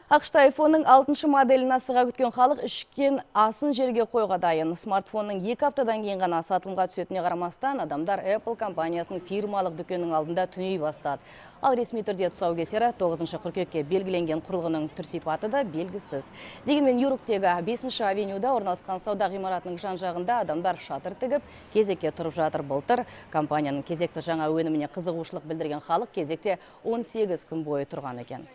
ақш-та iPhone-ның 6 моделін асыға күткен халық ішкен асын жерге қойға дайын. Смартфонның 2 аптадан кейін ғана сатылымға түсетіне қарамастан, адамдар Apple компаниясының фирмалық дүкеннің алдында түней бастады. Ал ресми түрде тұсаукесері 9 қыркүйекке белгіленген құрылғының түр-сипаты да белгісіз. Дегенмен Нью-Йорктегі 5 авенюда орналасқан сауда ғимаратының жан-жағында адамдар шатыр тігіп, кезекке тұрып жатыр. Былтыр компанияның кезекті жаңа өніміне қызығушылық білдірген халық кезекте 18 күн бойы тұрған екен.